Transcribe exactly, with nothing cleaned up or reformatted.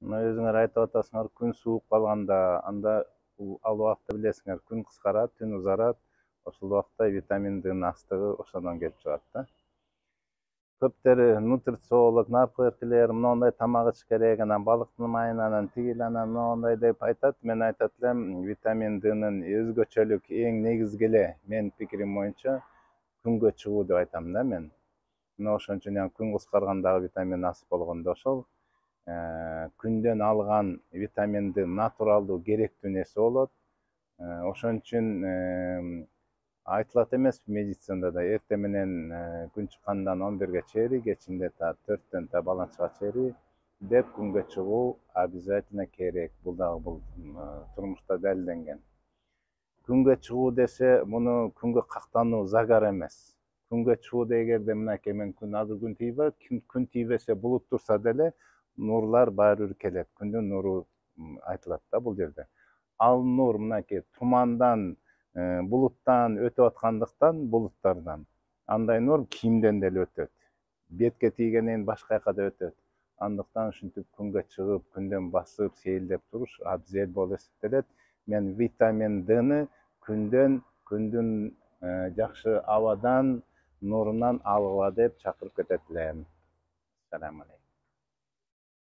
Мына өзүңөр айтып атасыңар, күн суук калганда, анда ал убакта билесиңер, күн кыскарат, түн узарат. Ошол убакта витамин Д'нын астыгы ошондон келип чыгат да. Көптөрү нутрициолог, наркологдор моундай тамак ич керек, анан балыктын майын, анан тигил, анан моундай деп айтат. Мен айтат элем, витамин Д'нын өзгөчөлүк эң негизги эле менин пикирим боюнча күнгө чыгуу деп айтам да мен. Мына ошон үчүн күн кыскаргандагы витамин аз болгондо ошол күндөн алган витамин Д натуралдуу керектүү нерсе болот. Ошон үчүн айтылат эмеспи медицинада да, эртең менен күн чыккандан он бирге чейин, кечинде та төрттөн та баланчага чейин деп күнгө чыгуу обязательно керек. Бул дагы бул турмушта далилденген. Күнгө чыгуу десе, муну күнгө кактануу загар эмес. Күнгө чыгуу дегенде мынакей мен күн азыр күн тийбейт, күн тийбесе булут турса деле нурлар баары бир келет. Күндүн нуру айтылат да бул жерде. Ал нур мынакей тумандан, булуттан өтүп аткандыктан, булуттардан. Андай нур кийимден деле өтөт. Бетке тийгенден башка жака да өтөт. Андыктан ушинтип күнгө чыгып, күндөн басып, сейилдеп туруш абзел болуп эсептелет. Мен витамин Д'ны күндөн, күндүн жакшы абадан, нурунан алгыла деп чакырып кетет элем. Салам алейкум.